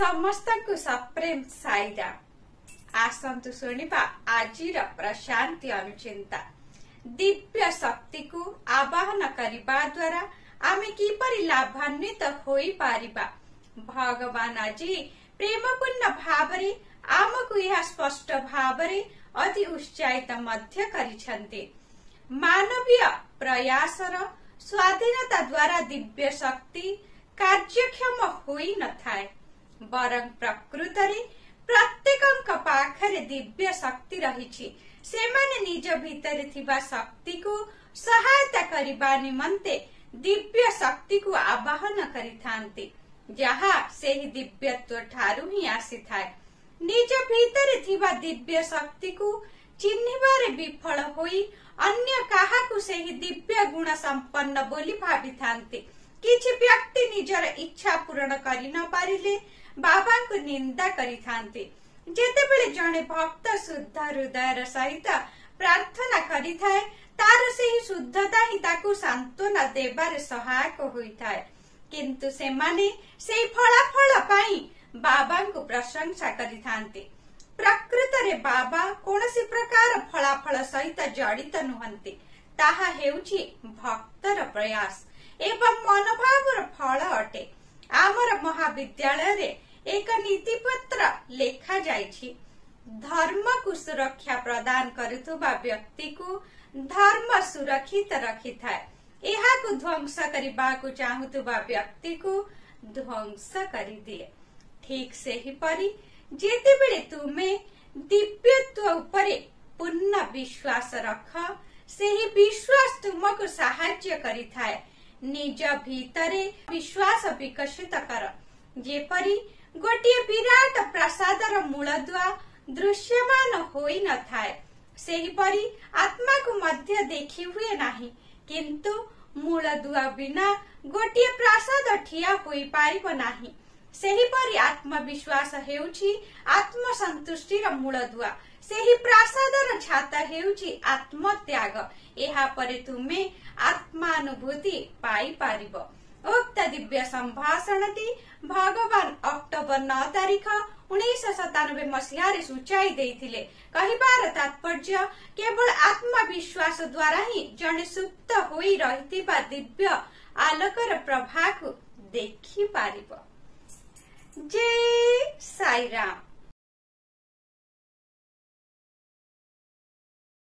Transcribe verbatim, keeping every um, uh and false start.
ସମସ୍ତଙ୍କୁ ସପ୍ରେମ ସାଇରାମ। ଆସନ୍ତୁ ଶୁଣିବା ଆଜିର ପ୍ରଶାନ୍ତି ଅନୁଚିନ୍ତା। ଦିବ୍ୟ ଶକ୍ତିକୁ ଆବାହନ କରିବା ଦ୍ୱାରା ଆମେ କିପରି ଲାଭାନ୍ୱିତ ହୋଇପାରିବା? ଭଗବାନ ଆଜି ପ୍ରେମପୂର୍ଣ୍ଣ ଭାବରେ ଆମକୁ ଏହା ସ୍ପଷ୍ଟ ଭାବରେ ଅତି ଉତ୍ସାହିତ ମଧ୍ୟ କରିଛନ୍ତି। ମାନବୀୟ ପ୍ରୟାସର ସ୍ୱାଧୀନତା ଦ୍ୱାରା ଦିବ୍ୟ ଶକ୍ତି କାର୍ଯ୍ୟକ୍ଷମ ହୋଇନଥାଏ, ବରଂ ପ୍ରକୃତରେ ପ୍ରତ୍ୟେକଙ୍କ ପାଖରେ ଦିବ୍ୟ ଶକ୍ତି ରହିଛି। ସେମାନେ ନିଜ ଭିତରେ ଥିବା ଶକ୍ତିକୁ ସହାୟତା କରିବା ନିମନ୍ତେ ଦିବ୍ୟ ଶକ୍ତିକୁ ଆବାହନ କରିଥାନ୍ତି, ଯାହା ସେହି ଦିବ୍ୟତ୍ୱ ଠାରୁ ହିଁ ଆସିଥାଏ। ନିଜ ଭିତରେ ଥିବା ଦିବ୍ୟ ଶକ୍ତିକୁ ଚିହ୍ନିବାରେ ବିଫଳ ହୋଇ ଅନ୍ୟ କାହାକୁ ସେହି ଦିବ୍ୟ ଗୁଣ ସମ୍ପନ୍ନ ବୋଲି ଭାବିଥାନ୍ତି। କିଛି ବ୍ୟକ୍ତି ନିଜର ଇଚ୍ଛା ପୂରଣ କରି ନ ପାରିଲେ ବାବାଙ୍କୁ ନିନ୍ଦା କରିଥାନ୍ତି। ଯେତେବେଳେ ଜଣେ ଭକ୍ତ ଶୁଦ୍ଧ ହୃଦୟର ସହିତ ପ୍ରାର୍ଥନା କରିଥାଏ, ତାର ସେହି ଶୁଦ୍ଧତା ହିଁ ତାକୁ ସାନ୍ତ୍ୱନା ଦେବାରେ ସହାୟକ ହୋଇଥାଏ। କିନ୍ତୁ ସେମାନେ ସେହି ଫଳାଫଳ ପାଇଁ ବାବାଙ୍କୁ ପ୍ରଶଂସା କରିଥାନ୍ତି। ପ୍ରକୃତରେ ବାବା କୌଣସି ପ୍ରକାର ଫଳାଫଳ ସହିତ ଜଡ଼ିତ ନୁହନ୍ତି। ତାହା ହେଉଛି ଭକ୍ତର ପ୍ରୟାସ ଏବଂ ମନୋଭାବର ଫଳ ଅଟେ। ଆମର ମହାବିଦ୍ୟାଳୟରେ ଏକ ନୀତିପତ୍ର ଲେଖାଯାଇଛି, ଧର୍ମକୁ ସୁରକ୍ଷା ପ୍ରଦାନ କରୁଥିବା ବ୍ୟକ୍ତିକୁ ଧର୍ମ ସୁରକ୍ଷିତ ରଖିଥାଏ, ଏହାକୁ ଧ୍ୱଂସ କରିବାକୁ ଚାହୁଁଥିବା ବ୍ୟକ୍ତିକୁ ଧ୍ୱଂସ କରିଦିଏ। ଠିକ ସେହିପରି ଯେତେବେଳେ ତୁମେ ଦିବ୍ୟତ୍ୱ ଉପରେ ପୂର୍ଣ୍ଣ ବିଶ୍ୱାସ ରଖ, ସେହି ବିଶ୍ୱାସ ତୁମକୁ ସାହାଯ୍ୟ କରିଥାଏ। ନିଜ ଭିତରେ ବିଶ୍ୱାସ ବିକଶିତ କର। ଯେପରି ଗୋଟିଏ ବିରାଟ ପ୍ରାସାଦର ମୂଳଦୁଆ ଦୃଶ୍ୟମାନ ହୋଇନଥାଏ, ସେହିପରି ଆତ୍ମାକୁ ମଧ୍ୟ ଦେଖି ହୁଏ ନାହିଁ। କିନ୍ତୁ ମୂଳଦୁଆ ବିନା ଗୋଟିଏ ପ୍ରାସାଦ ଠିଆ ହୋଇପାରିବ ନାହିଁ। ସେହିପରି ଆତ୍ମବିଶ୍ୱାସ ହେଉଛି ଆତ୍ମସନ୍ତୁଷ୍ଟିର ମୂଳଦୁଆ। ସେହି ପ୍ରାସାଦର ଛାତ ହେଉଛି ଆତ୍ମତ୍ୟାଗ। ଏହାପରେ ତୁମେ ଆତ୍ମାନୁଭୂତି ପାଇପାରିବ। ଉକ୍ତ ଦିବ୍ୟ ସମ୍ଭାଷଣଟି ଭଗବାନ ଅକ୍ଟୋବର ନଅ ତାରିଖ ଉଣେଇଶହ ସତାନବେ ମସିହାରେ ସୂଚାଇ ଦେଇଥିଲେ। କହିବାର ତାତ୍ପର୍ଯ୍ୟ, କେବଳ ଆତ୍ମବିଶ୍ୱାସ ଦ୍ୱାରା ହିଁ ଜଣେ ସୁପ୍ତ ହୋଇ ରହିଥିବା ଦିବ୍ୟ ଆଲୋକର ପ୍ରଭାକୁ ଦେଖିପାରିବ। ଜୟ ସାଇରାମ।